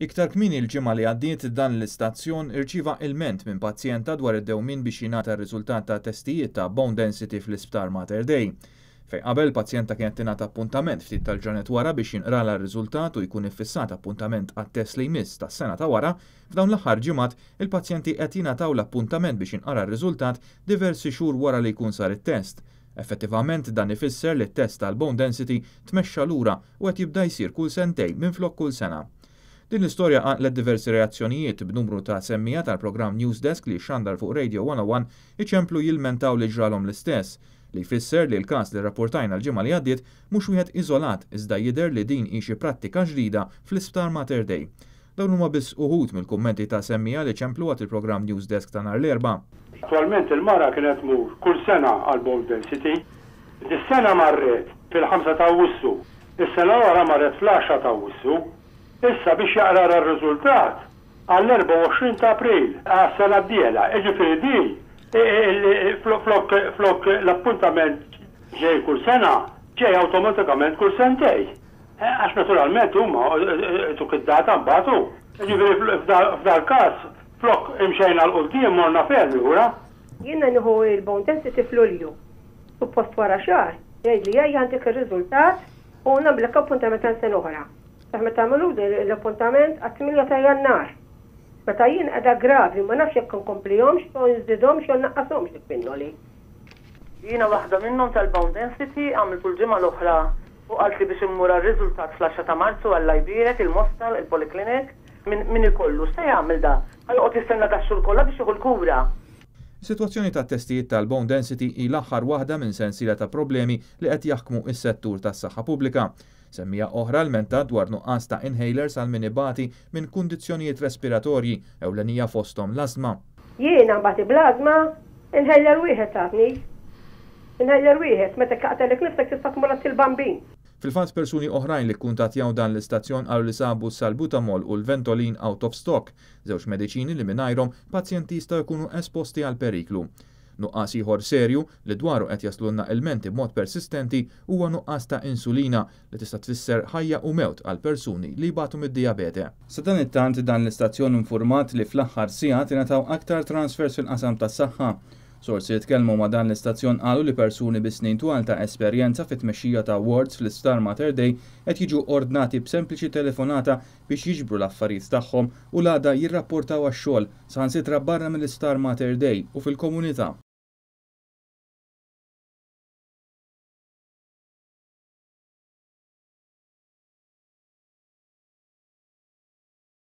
Iktar kmieni l-ġimgħa li għaddiet dan l-istazzjon irċieva ilment minn pazjenta dwar id-dewmien biex jingħata r-riżultat ta' testijiet ta' bone density fl-Isptar Mater Dei. Fejn qabel pazjenta kienet tingħata appuntament ftit tal-ġranet wara biex jinqralha r-riżultat u jkun iffissat appuntament għat-test li jmiss tas-sena ta' wara, f'dawn l-aħħar ġimgħat il-pazjenti qed jingħataw l-appuntament biex jinqara r-riżultat diversi xhur wara li jkun sar it-test. Effettivament dan ifisser li t-test tal-bone density tmexxa lura u qed jibda jsir kull sentejn minflok kull sena. Din l-istorja qanqlet diversi reazzjonijiet b'numru ta' semmiegħa tal-programm Newsdesk li xandar fuq Radio 101 iċemplu jilmentaw li ġralhom l-istess, li jfisser li l-każ li rrapportajna l-ġimgħa li għaddiet mhux wieħed iżolat iżda jidher li din hi xi prattika ġdida fl-Isptar Mater Dei. Dawn huma biss uħud mill-kummenti ta' semmiegħa li ċemplu waqt il-programm Newsdesk ta' nhar l-Erbgħa. Attwalment il-mara kienet tmur kull sena għal bone density. Dis-sena marret fil-5 ta' Awwissu. Is-sena l-oħra marret fl-10 ta' Awwissu. Issa biex jaqra r-riżultat għall-24 ta' April għas-sena d-dieħla. Jiġifieri din flok l-appuntament ġej kull sena, ġej awtomatikament kull sentejn. Għax naturalment huma tuk id-data mbagħad hu. Jiġifieri f'dal-każ flok imxejna 'l quddiem morna ferm lura. Jiena nieħu il-bone density f'Lulju. Suppost wara xahar, jgħidli ejja għandek ir-riżultat u nagħmlek appuntament għal sena oħra. Saħ meta għamlu l-appuntament għat-8 ta' Jannar. Meta jien qiegħda gravi ma nafx jekk nkomplihomx jew nżidhomx jew nnaqqashomx il-pinnoli. Jiena waħda minnhom tal-bone density, għamiltu l-ġimgħa l-oħra u qaltli biex immur għar-riżultat fl-10 ta' Marzu Alla jbierek il-Mosta, il-Polyclinic. Min min ikollu, x'se jagħmel da? Ħa joqgħod jistenna dax-xhur kollha biex jieħu l-kura? Is-sitwazzjoni tat-testijiet tal-bone density hi l-aħħar waħda minn sensiela ta' problemi li qed jaħkmu s-settur tas-saħħa pubblika. Semmiegħa oħra lmentat dwar nuqqas ta' inhalers għal min ibati minn kundizzjonijiet respiratorji, ewlenija fosthom l-ażma. Jiena nbati bl-ażma, inhaler wieħed tatni. Inhaler wieħed, meta jqaqtgħalek nifsek tista' tmur għand il-bambin. Fil-fatt persuni oħrajn li kkuntattjaw dan l-istazzjon qalu li sabu s-salbutamol u l-Ventolin out of stock, żewġ mediċini li mingħajrhom pazjenti jistgħu jkunu esposti għal periklu. Nuqqas ieħor serju li dwaru qed jaslulna ilmenti b'mod persistenti huwa nuqqas ta' insulina li tista' tfisser ħajja u mewt għal persuni li jbatu mid-dijabete. Sadanittant dan l-istazzjon infurmat li fl-aħħar sigħat ingħataw aktar transfers fil-qasam tas-saħħa. Sorsi li tkellmu ma' dan l-istazzjon qalu li persuni bi snin twal ta' esperjenza fit-tmexxija ta' wards fl-Isptar Mater Dei qed jiġu ordnati b'sempliċi telefonata biex jiġbru l-affarijiet tagħhom u l-għada jirrapportaw għax-xogħol saħansitra barra mill-Isptar Mater Dei u fil-komunità.